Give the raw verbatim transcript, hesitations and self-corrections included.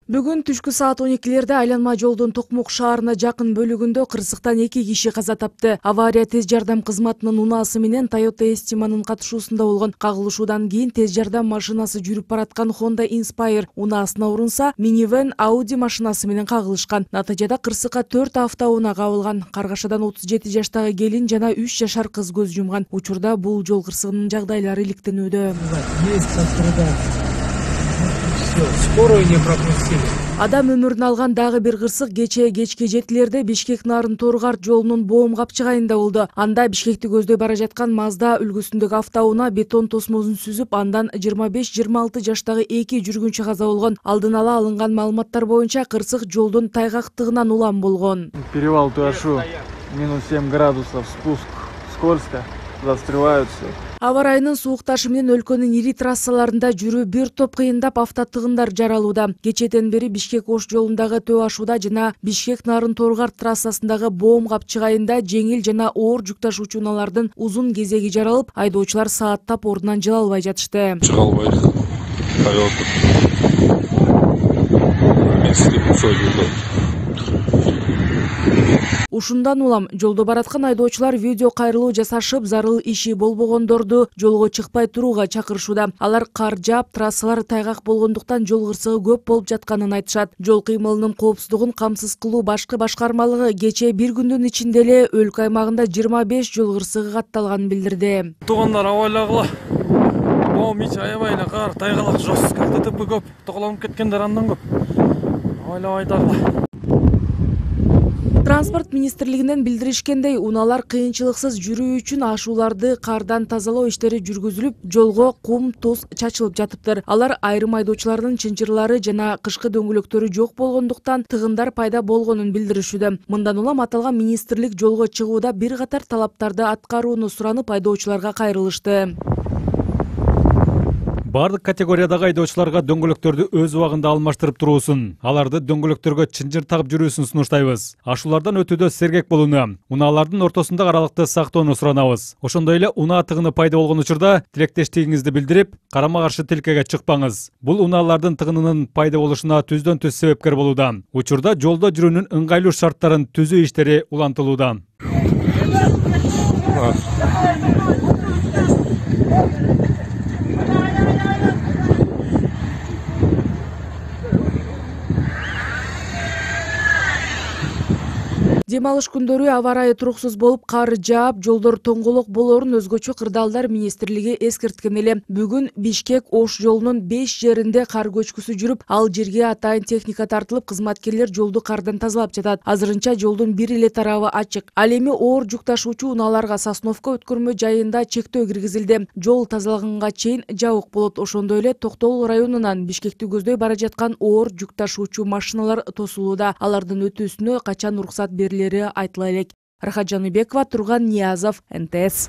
Бүгүн түшкү саат он экилерде айланма жолдун Токмок шаарына жакын бөлүгүндө кырсыктан эки киши каза тапты. Авария тез жардам кызматынын унаасы менен Toyota Estima'нын катышуусунда болгон. Кагылышуудан кийин тез жардам машинасы жүрүп бараткан Honda Inspire унаасына урунса, минивэн Audi машинасы менен кагылышкан. Натыйжада кырсыкка төрт автоунаа кабылган. Каргашадан отуз жети жаштагы келин жана үч жашар кыз көз жумган. Учурда бул жол кырсыгынын жагдайлары иликтенүүдө. Скорую не пропустили. Адам өмүрүн алган дагы бир кырсык кечээ кечке жетилерде Бишкек Нарын Торгарт жолунун Боом капчыгайында болду. Анда Бишкекти көздөй бара жаткан Mazda үлгүсүндөгү автоунаа бетон тосмосун сүзүп, андан жыйырма беш жыйырма алты жаштагы эки жүргүнчү каза болгон. Алдын ала алынган маалыматтар боюнча кырсык жолдун тайгактыгынан улам болгон. Перевал Туашу, минус семь градусов, спуск скользко, застреваются. Аба ырайынын суукташы менен өлкөнүн ири трассаларында жүрүү бир топ кыйындап автотыгындар жаралууда. Кечээден бери Бишкек-Ош жолундагы Төө Ашууда жана Бишкек Нарын Торгарт трассасындагы Боом капчыгайында жеңил жана оор жүк ташуучу унаалардын узун кезеги жаралып, айдоочулар сааттап ордунан жыла албай жатышты. Чыга албайдык. Ушундан улам жолдо бараткан айдоочулар видео кайрылуу жасашып, зарыл иши болбогондорду жолго чыкпай турууга чакырышууда. Алар кар жаап, трассалар тайгак болгондуктан жол кырсыгы көп болуп жатканын айтышат. Жол кыймылынын коопсуздугун камсыз кылуу башкы башкармалыгы кечээ бир күндүн ичинде эле өлкө аймагында жыйырма беш жол кырсыгы катталганын билдирди. Туугандар абайлагыла. Боом ич аябай эле кар, тайгалак жостко, ДТП көп, тоголонуп кеткендер андан көп. Абайлабайдагыла. Транспорт министрлигинен билдиришкендей, унаалар кыйынчылыксыз жүрүү үчүн ашууларды кардан тазалоо иштери жүргүзүлүп, жолго кум, туз чачылып жатыптыр. Алар айрым айдоочулардын чынчырлары жана кышкы дөңгөлөктөрү жок болгондуктан тыгындар пайда болгонун билдиришүүдө. Мындан улам аталган министрлик жолго чыгууда бир катар талаптарды аткарууну суранып, айдоочуларга кайрылышты. Бардык категориядагы айдоочуларга дөңгөлөктөрдү өз убагында алмаштырып туруусун, аларды дөңгөлөктөргө чынжыр тагып жүрүүсүн сунуштайбыз. Ашуулардан өтүүдө сергек болууну, унаалардын ортосунда аралыкты сактоону суранабыз. Ошондой эле унаа тыгыны пайда болгон учурда тилектештигиңизди билдирип, карама каршы тилкеге чыкпаңыз. Бул унаалардын тыгынынын пайда болушуна түздөн түз себепкер болууда. Учурда жолдо жүрүүнүн ыңгайлуу шарттарын түзүү иштери улантылууда. Дем алыш күндөрү аба ырайы туруксуз болуп, кар жаап, жолдор тоңголок болоорун өзгөчө кырдаалдар министрлиги эскерткен эле. Бүгүн Бишкек-Ош жолунун беш жеринде кар көчкүсү жүрүп, ал жерге атайын техника тартылып, кызматкерлер жолду кардан тазалап жатат. Азырынча жолдун бир эле тарабы ачык. Ал эми оор жүк ташуучу унааларга Сосновка өткөрмө жайында чектөө киргизилди. Жол тазалаганга чейин жабык болот. Ошондой эле Токтогул районунан Бишкекти көздөй бара жаткан оор жүк ташуучу машиналар тосулууда. Алардын өтүүсүнө качан уруксат берилери айтыла элек. Рахат Жаныбекова, Турган Ниязов, эн тэ эс.